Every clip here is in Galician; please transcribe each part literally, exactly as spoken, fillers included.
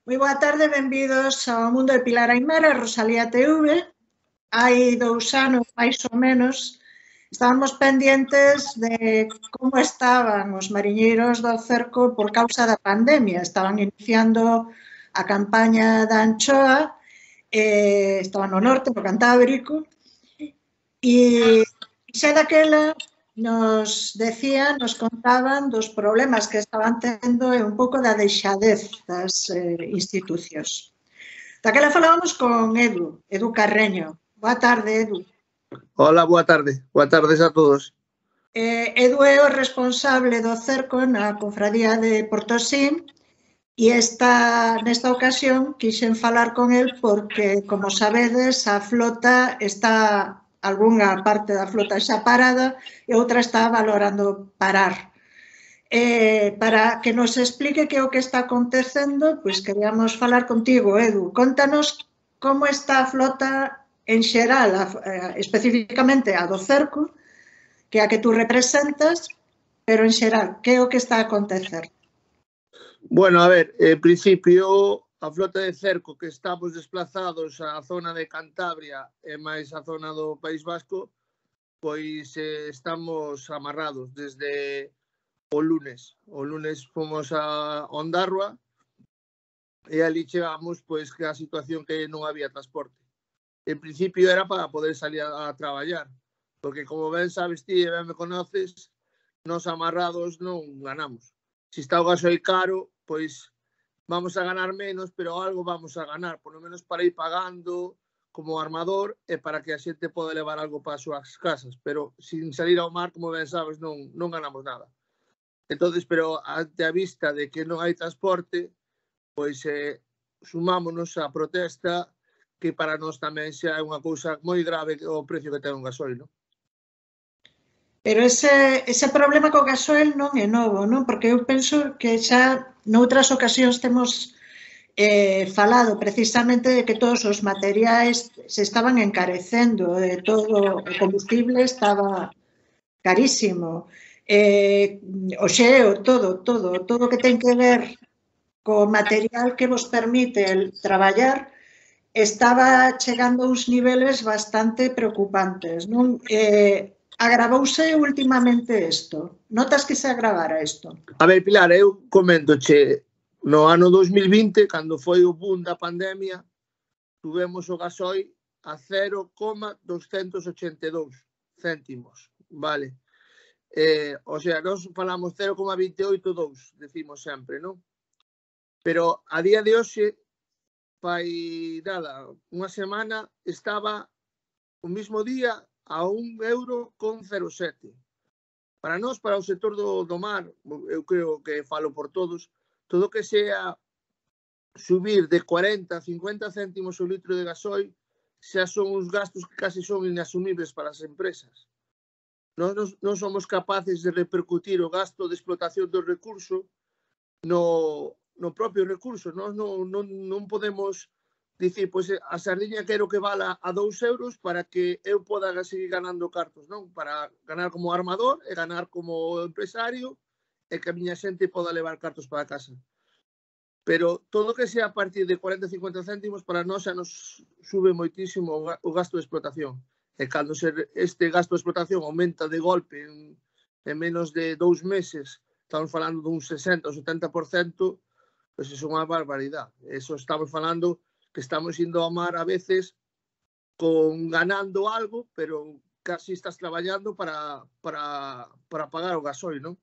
Moi boa tarde, benvidos ao mundo de Pilar Aimera, Rosalía T V. Hai dous anos, máis ou menos, estábamos pendientes de como estaban os mariñeiros do cerco por causa da pandemia. Estaban iniciando a campaña da anchoa, eh, estaban no norte, no Cantábrico, e xa daquela nos decían, nos contaban dos problemas que estaban tendo e un pouco da deixadez das eh, institucións. Daquela falábamos con Edu, Edu Carreño. Boa tarde, Edu. Hola, boa tarde. Boa tardes a todos. Eh, Edu é o responsable do cerco na Cofradía de Portosín e esta, nesta ocasión quixen falar con el porque, como sabedes, a flota está, algunha parte da flota xa parada e outra está valorando parar. Eh, para que nos explique que é o que está acontecendo, pois queríamos falar contigo, Edu. Contanos como está a flota en xeral, a, eh, especificamente a do cerco, que é a que tú representas, pero en xeral, que é o que está a acontecer? Bueno, a ver, en principio, a flota de cerco que estamos desplazados á zona de Cantabria e máis a zona do País Vasco, pois eh, estamos amarrados desde o lunes. O lunes fomos a Ondarroa e ali chegamos pois que a situación que non había transporte. En principio era para poder salir a, a traballar, porque como ben sabes ti e ben me conoces, nos amarrados non ganamos. Se está o gasoil caro, pois vamos a ganar menos, pero algo vamos a ganar, por lo menos para ir pagando como armador e para que a xente poda levar algo para as súas casas, pero sin salir ao mar, como ben sabes, non, non ganamos nada. Entonces, pero ante a vista de que non hai transporte, pois eh, sumámonos á protesta, que para nós tamén xa é unha cousa moi grave o precio que ten un gasoil, non? Pero ese, ese problema co gasoil non é novo, non? Porque eu penso que xa noutras ocasións temos eh, falado precisamente de que todos os materiais se estaban encarecendo, de todo o combustible estaba carísimo. Eh, o xeo, todo, todo, todo que ten que ver co material que vos permite el traballar estaba chegando a uns niveles bastante preocupantes, non? Eh, agravouse últimamente isto? Notas que se agravara isto? A ver, Pilar, eu comento che, no ano dos mil vinte, cando foi o boom da pandemia, tuvemos o gasoil a cero coma doscientos ochenta e dous céntimos, vale? Eh, o sea, nós falamos cero coma veinte e oito dous, decimos sempre, non? Pero a día de hoxe, fai nada, unha semana estaba o mismo día a un euro con cero sete. Para nós, para o sector do, do mar, eu creo que falo por todos, todo que sea subir de cuarenta a cincuenta céntimos o litro de gasoil xa son uns gastos que casi son inasumibles para as empresas. Nós non somos capaces de repercutir o gasto de explotación do recurso no, no propio recurso. Nós non, non, non podemos dicir, pois a sardiña quero que vala a dous euros para que eu poda seguir ganando cartos, non? Para ganar como armador e ganar como empresario e que a miña xente poda levar cartos para casa. Pero todo que sea a partir de cuarenta a cincuenta céntimos para nós xa nos sube moitísimo o gasto de explotación. E cando este gasto de explotación aumenta de golpe en, en menos de dous meses, estamos falando dun sesenta ou setenta por cento, pois é unha barbaridade. Eso estamos falando que estamos indo ao mar a veces con ganando algo, pero casi estás traballando para, para, para pagar o gasoil, non?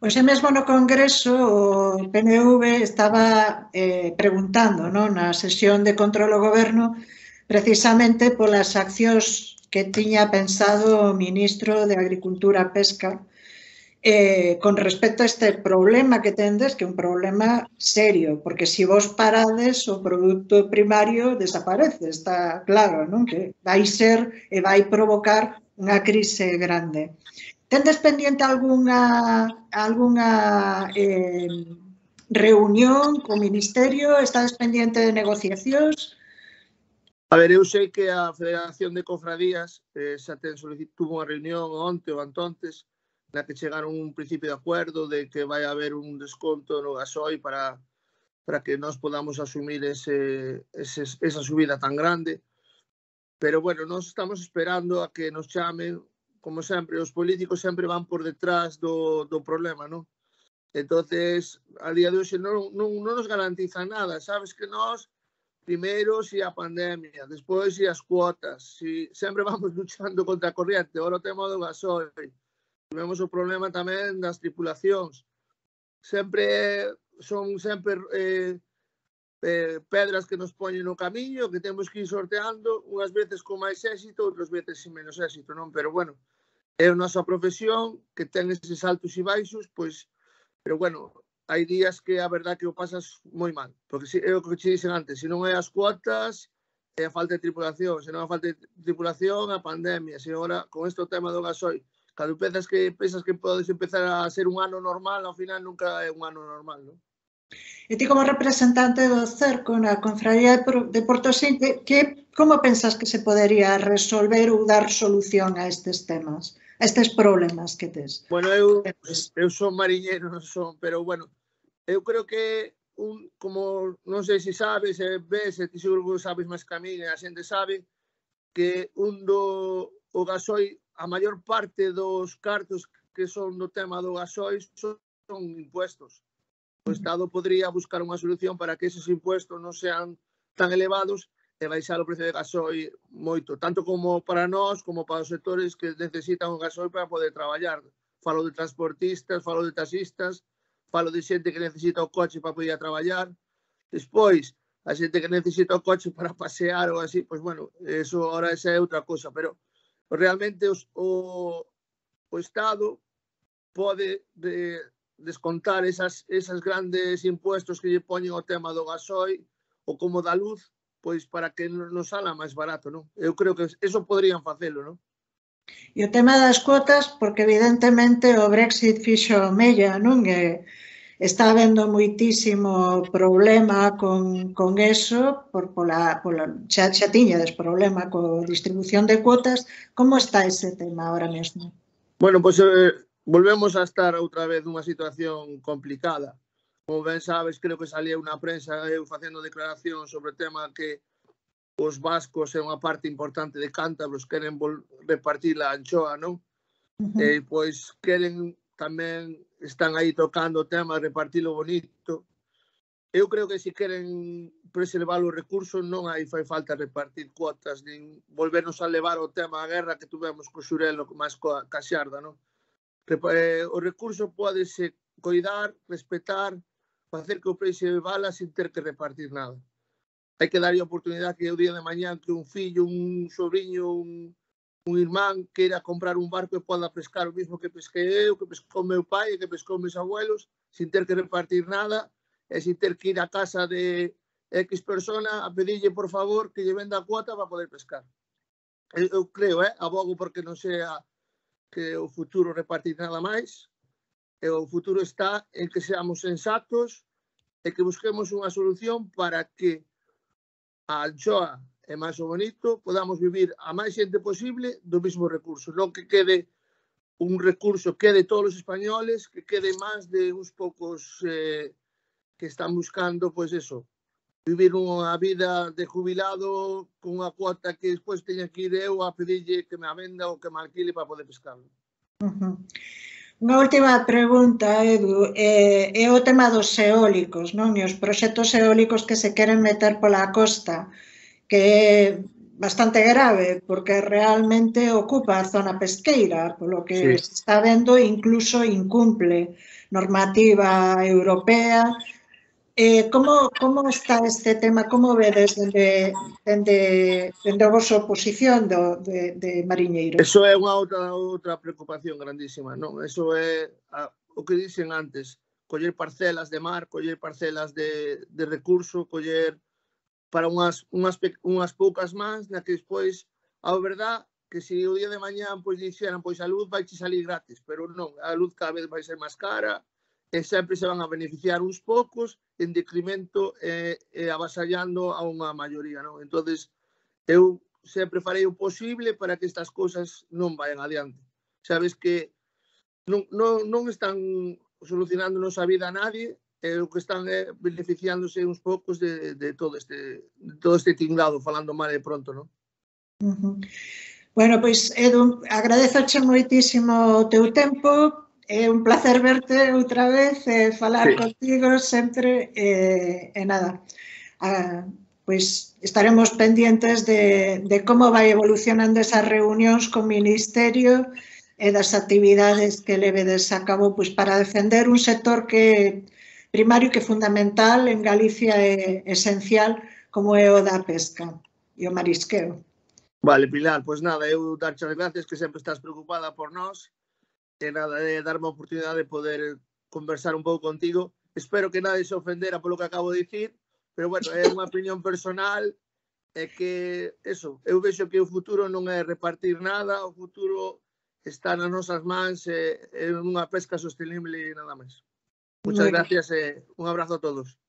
Hoxe mesmo no Congreso o P N V estaba eh, preguntando, non, na sesión de control ao goberno precisamente polas accións que tiña pensado o ministro de Agricultura e Pesca Eh, con respecto a este problema que tendes, que é un problema serio, porque se vos parades o produto primario desaparece, está claro, non? Que vai ser e vai provocar unha crise grande. Tendes pendiente algunha, algunha eh, reunión co Ministerio? Estades pendiente de negociacións? A ver, eu sei que a Federación de Cofradías eh, xa ten solicitado unha reunión onte ou antontes na que chegaron un principio de acuerdo de que vai haber un desconto no gasoil para, para que nós podamos asumir ese, ese, esa subida tan grande. Pero, bueno, nós estamos esperando a que nos chamen. Como sempre, os políticos sempre van por detrás do, do problema, non? Entonces, a día de hoxe non, non, non nos garantizan nada. Sabes que nós, primeiro, si a pandemia, despois si as cuotas, si sempre vamos luchando contra a corriente. Ora o tema do gasoil. Tivemos o problema tamén das tripulacións. Sempre son sempre eh, eh, pedras que nos poñen no camiño, que temos que ir sorteando, unhas veces con máis éxito, outras veces sin menos éxito, non? Pero, bueno, é a nosa profesión, que ten eses altos e baixos, pois, pero, bueno, hai días que a verdad que o pasas moi mal, porque é o que te dixen antes, se non é as cuotas, é a falta de tripulación, se non a falta de tripulación, a pandemia, se agora, con este tema do gasoil, cando pensas que, pensas que podes empezar a ser un ano normal, ao final nunca é un ano normal, non? E ti como representante do Cerco na Confraría de Portosín, que, como pensas que se podería resolver ou dar solución a estes temas, a estes problemas que tes? Bueno, eu, eu son mariñeiro, non son, pero, bueno, eu creo que, un, como non sei se sabes, se ves, se ti seguro que sabes máis que a mí, a xente sabe, que un do o gasoil, a maior parte dos cartos que son do tema do gasoil son, son impuestos. O Estado podría buscar unha solución para que esos impuestos non sean tan elevados e baixar o precio de gasoil moito, tanto como para nós, como para os sectores que necesitan o gasoil para poder traballar. Falo de transportistas, falo de taxistas, falo de xente que necesita o coche para poder traballar. Despois, a xente que necesita o coche para pasear ou así, pois, bueno, eso ahora esa é outra cosa, pero realmente os, o, o Estado pode de, descontar esas, esas grandes impuestos que lle poñen ao tema do gasoil ou como da luz, pois para que nos sala máis barato, non? Eu creo que eso poderían facelo, non? E o tema das cuotas, porque evidentemente o Brexit fixo mella, non? E está habendo moitísimo problema con, con eso, por, pola, pola, xa, xa tiñades problema co distribución de cuotas. Como está ese tema ahora mesmo? Bueno, pois eh, volvemos a estar outra vez nunha situación complicada. Como ben sabes, creo que salía unha prensa eu facendo declaración sobre o tema que os vascos é unha parte importante de cántabros, queren repartir a anchoa, non? Uh-huh. E pois queren tamén, están aí tocando o tema de repartilo bonito. Eu creo que se queren preservar os recursos non hai fai falta repartir cuotas, nin volvernos a levar o tema a guerra que tuvemos co Xurelo máis coa Xarda, non? O recurso pódese coidar, respetar, facer que o país se vala sin ter que repartir nada. Hai que darlle a oportunidade que o día de mañán que un fillo, un sobrinho, un, un irmán queira comprar un barco e poda pescar o mismo que pesquei eu, que pescou meu pai e que pescou meus abuelos, sin ter que repartir nada e sin ter que ir a casa de X persona a pedirlle por favor que lle venda a cuota para poder pescar. Eu, eu creo, eh, abogo porque non sea que o futuro repartir nada máis, e o futuro está en que seamos sensatos e que busquemos unha solución para que a anchoa e máis o bonito podamos vivir a máis xente posible do mismo recurso, non que quede un recurso que de todos os españoles, que quede máis de uns poucos eh, que están buscando, pois eso, vivir unha vida de jubilado con unha cuota que despois teña que ir eu a pedirlle que me a venda ou que me alquile para poder pescarlo. Uh-huh. Unha última pregunta, Edu, é, é o tema dos eólicos, non? E os proxectos eólicos que se queren meter pola costa, que é bastante grave, porque realmente ocupa a zona pesqueira, polo que sí. Se está vendo, incluso incumple normativa europea. Eh, como, como está este tema? Como vedes dende, dende, dende a vosa oposición do, de, de mariñeiros? Eso é unha outra, outra preocupación grandísima, non? Eso é a, o que dicen antes, coller parcelas de mar, coller parcelas de, de recurso, coller para unhas, unhas, unhas poucas mans, na que despois, a verdad, que se o día de mañán pois dixeran, pois a luz vai te salir gratis, pero non, a luz cada vez vai ser máis cara, e sempre se van a beneficiar uns poucos en decremento e, e avasallando a unha maioría, non? Entonces, eu sempre farei o posible para que estas cousas non vayan adiante. Sabes que non, non, non están solucionándonos a vida a nadie, e o que están é beneficiándose uns poucos de, de todo este de todo este tinglado, falando mal e pronto, non? Uh-huh. Bueno, pois, Edu, agradezoche moitísimo o teu tempo, é un placer verte outra vez, e falar sí. contigo sempre, e, e nada, a, pois estaremos pendientes de, de como vai evolucionando esas reunións co Ministerio e das actividades que levedes a cabo pois, para defender un sector que primario que é fundamental en Galicia é esencial como é o da pesca e o marisqueo. Vale, Pilar, pois nada, eu darche as gracias que sempre estás preocupada por nós e nada, de darme a oportunidade de poder conversar un pouco contigo. Espero que nadie se ofendera polo que acabo de dicir, pero bueno, é unha opinión personal e que, eso, eu vexo que o futuro non é repartir nada, o futuro está nas nosas mans e, e unha pesca sostenible e nada máis. Muchas gracias e un abrazo a todos.